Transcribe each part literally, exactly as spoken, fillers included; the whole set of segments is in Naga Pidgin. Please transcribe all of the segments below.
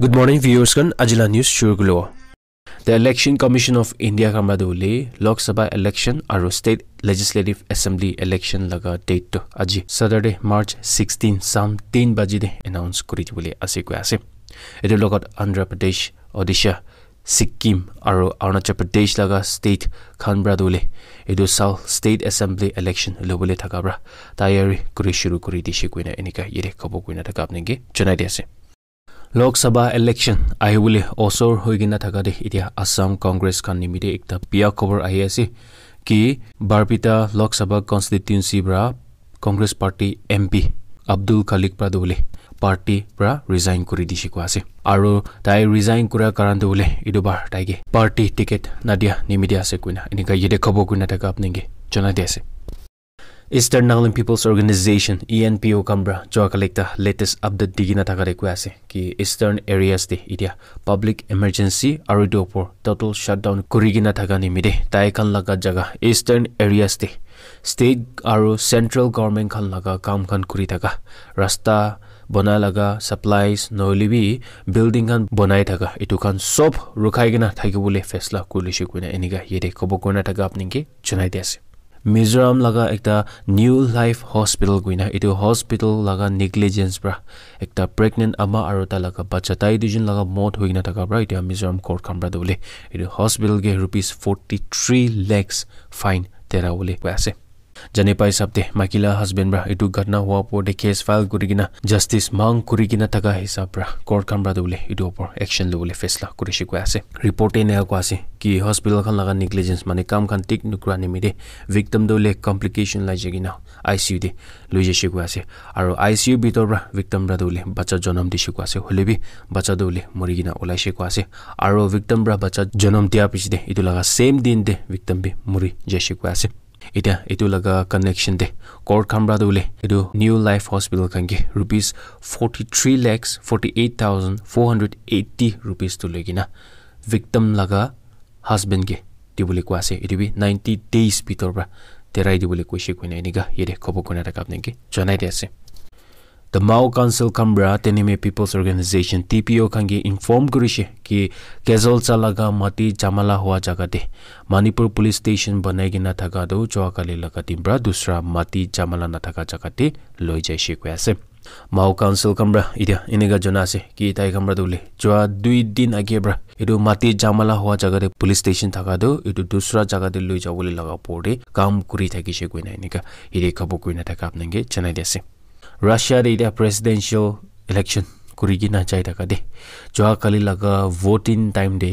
Good morning, viewers khan. Ajila news shuru kulo. The Election Commission of India khan para tu hoile Lok Sabha election aru State Legislative Assembly election laga date tu aji Saturday, March sixteen, sam ten baji de announce kuri dibole ase koi ase. Etu logot Andhra Pradesh, Odisha, Sikkim aru Arunachal Pradesh laga state khan para tu hoile etu sal State Assembly election lobole thaka para tayari kuri shuru kuri dishe koina enika yate khobor koina thaka apni ke janai di ase. Lok Sabha election ahibole osor hoi kena thaka de etia Assam Congress khan nimite ekta biya khobor ahi ase ki Barpeta Lok Sabha constituency para Congress party M P Abdul Khalik para tu hoile party para resign kuri dishe koi ase. Aru tai resign kura karan tu hoile etu bar tai ke party ticket nadia nimite ase koina enika yate khobor koina thaka apni ke janai di ase. Eastern Nagaland People's Organization, E N P O khan para jua kali ekta latest update di kena thaka de koi ase ki Eastern areas de etia public emergency aru etu opor total shutdown kuri kena thaka nimite tai khan laga jaga Eastern areas de state aru central government khan laga kam khan kuri thaka, rasta banai laga, supplies nohoile bi building khan banai thaka, etu khan sob rukhai kena thaki bole faisla kuri lishe koina enika yate khobor koina thaka apni ke janai di ase. Mizoram laga ekta New Life Hospital koina etu hospital laga negligence para ekta pregnant ama aru tai laga bacha tai duijun laga mot hoi kena thaka para etia Mizoram court khan para tu hoile etu hospital ke rupees forty three lakhs fine dera bole koi ase. Jane pai hisab te maiki la husband para etu ghatna hua opor te case file kuri kena justice mang kuri kena thaka hisab para court khan para tu hoile etu opor action lobole faisla kurishe koi ase. Report te eneka koi ase ki hospital khan laga negligence mane kam khan thik nukura nimite victim tu hoile complication lai jai kena I C U te loi jaishe koi ase. Aru I C U bitor para victim para tu hoile bacha janam dishe koi ase. Hoile bi bacha tu hoile muri kena ulaishe koi ase. Aru victim para bacha janam dia piche te etu laga same din te victim bi muri jaishe koi ase. Etia etu laga connection te court khan para tu hoile etu New Life Hospital khan ke rupees forty three lakhs forty eight thousand four hundred eighty rupees tu loi kena victim laga husband ke dibole koi ase. Etu bi ninety days bitor para derai dibole koishe koina enika yate khobor koina thaka apni ke janai di ase. The Mao Council khan para Teneme People's Organization, T P O khan ke inform kurishe ki Kezelcha laga mati jamala hua jaga te Manipur Police Station banai kena thaka tu jua kali laga din para dusra mati jamala na thaka jaga te loi jaishe koi ase. Mao Council khan para etia enika jana ase ki tai khan para tu hoile jua dui din age para etu mati jamala hua jaga te police station thaka tu etu dusra jaga te loi jabole laga opor te kam kuri thakishe koina enika yate khobor koina thaka apni ke janai di ase. Russia te etia presidential election kuri kena jai thaka de jua kali laga voting time te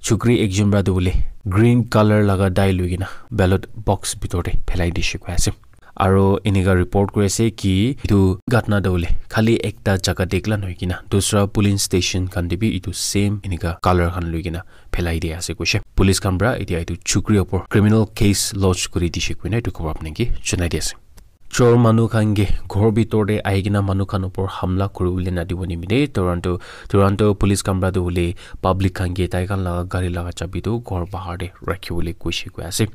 chukri ekjon para tu hoile green color laga dye loi kena ballot box bitor te phelai dishe koi ase. Aru enika report kuri ase ki etu ghatna tu hoile khali ekta jaga te ekla nohoi kena dusra polling station khan te bi etu same enika color khan loi kena phelai di ase koishe. Police khan para etia etu chukri opor criminal case lodge kuri dishe koina etu khobor apni ke janai di ase. Chor manu khan ke ghor bitor te ahi kena manu khan opor hamla kuri bole na dibo nimite Toronto, Toronto police khan para tu hoile public khan ke tai khan laga gari laga chabi tu ghor bahar te rakhi bole koishe koi ase.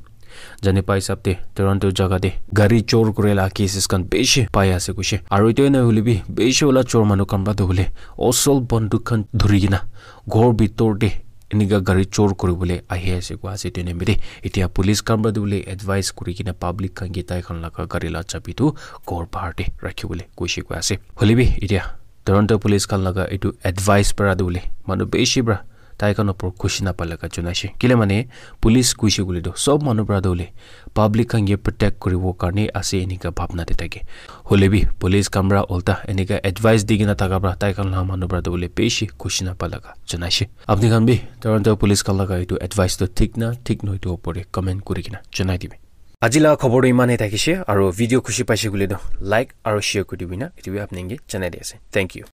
Jane pai hisab te Toronto jaga te gari chor kuri la cases khan bishi pai ase koishe. Aru etu na hoile bi bishi wala chor manu khan para tu hoile osol banduk khan dhuri kena ghor bitor te enika gari chor kuri bole ahi ase koi ase. Etu nimite de etia police khan para tu hoile advice kuri kena public khan ke tai khan laga gari la chabi tu ghor bahar te rakhi bole koishe koi ase. Hoile bi etia Toronto police khan laga etu advice para tu hoile manu bishi para tai khan opor khushi na pa laga janaishe. Kile mane police koishe koile tu sob manu para tu hoile public khan ke protect kuri bo karne ase enika bhabna te thake. Hoile bi police khan para ulta enika advice di kena thaka para tai khan laga manu para tu hoile bishi khushi na pa laga janaishe. Apni khan bi Toronto police khan laga etu advice tu thik na thik nohoi etu opor te comment kuri kena janai dibi. Aji laga khobor tu iman e thakishe aru video khushi paishe koile tu like aru share kuri dibi na etu bi apni ke janai di ase. Thank you.